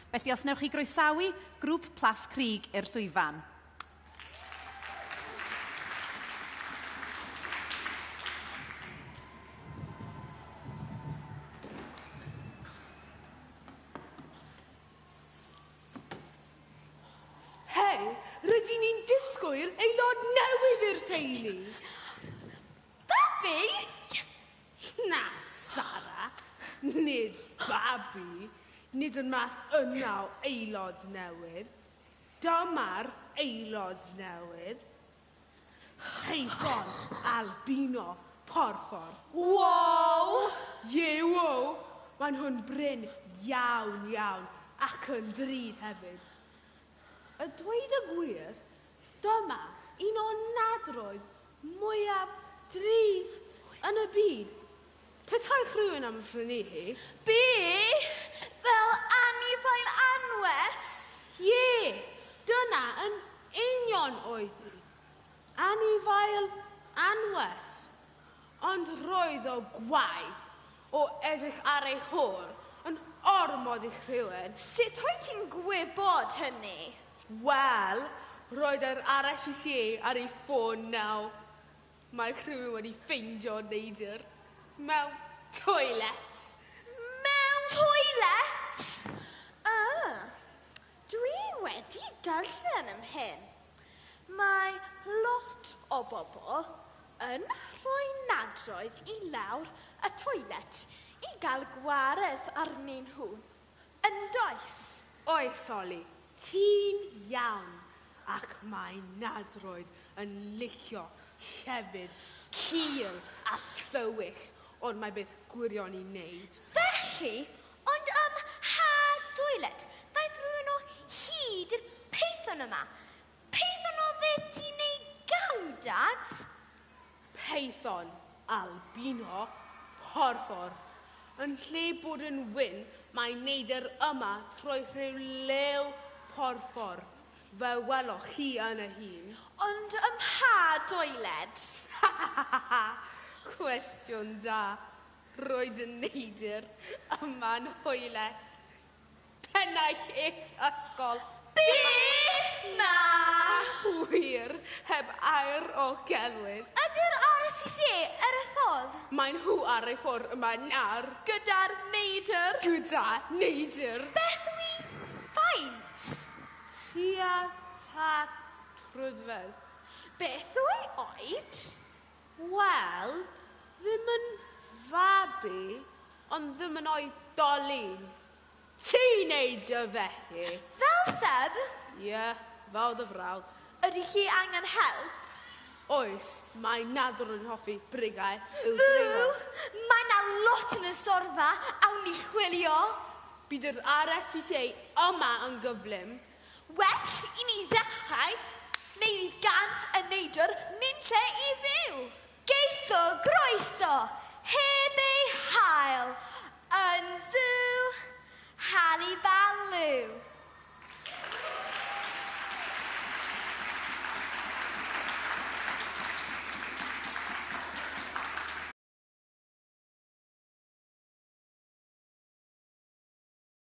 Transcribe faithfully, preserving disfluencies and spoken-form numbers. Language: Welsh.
Felly os newch chi groesawu grŵp Plascrug i'r llwyfan. Hei, rydyn ni'n disgwyl aelod newydd i'r teulu. Babi? Na, Sara, nid babi. Nid yn math yna o aelod newydd. Dyma'r aelod newydd. Peithon albino porffor. Wow! Ie, wow! Mae nhw'n brin iawn, iawn, ac yn ddrud hefyd. A dweud y gwir, dyma un o nadroedd mwyaf drud yn y byd. Petai rhywun am phrynu hi. Be? Fel anifail anwes? Ie, dyna yn union oedd hi. Anifail anwes. Ond roedd o gwaith o edrych ar ei hôl yn ormod i rhywun. Sut wyt ti'n gwybod hynny? Wel, roedd yr R S P C A ar ei ffôn nawr. Mae rhywun wedi ffeindio neidr mewn toilet. Mewn toilet? Ah, dwi wedi darllen am hyn. Mae lot o bobl yn rhoi nadroedd i lawr y toilet i gael gwaredd arnyn nhw. Yn does? Oes, Oli, ti'n iawn. Ac mae nadroedd yn licio llefydd cul a thywyll, ond mae beth gwirion i wneud. Felly, ond ym mha toilet ddaeth rhywun o hyd i'r peithon yma? Peithon o dde ti'n ei galw, Dad? Peithon albino porffor. Yn lle bod yn wyn, mae neidr yma trwy rhyw lew porffor. Fe weloch chi yn y hun. Ond ym mha doiled? Cwestiwn da. Roedd y neidr yma'n hoelet. Pennaeth eich ysgol. Be? Na! Wir, heb air o gelwydd. Ydy'r R S P C A ar y ffordd? Mae nhw ar ei ffordd yma nawr. Gyda'r neidr. Gyda neidr. Beth yw ei faint? Tua tair troedfedd. Beth yw ei oed? Wel, ddim yn fabi, ond ddim yn oedolyn. Teenager felly. Fel Seb? Ie, yeah, fel dy frawd. Ydy chi angen help? Oes, mae nadr yn hoffi brigau i'w dringo. Ww, mae na lot yn y storfa, awn ni chwilio. Bydd yr R S P C A yma yn gyflym. Well i ni ddechrau, neu fydd gan y neidr nunlle i fyw. Geith o groeso, heb ei hail, yn zoo, Halibalw.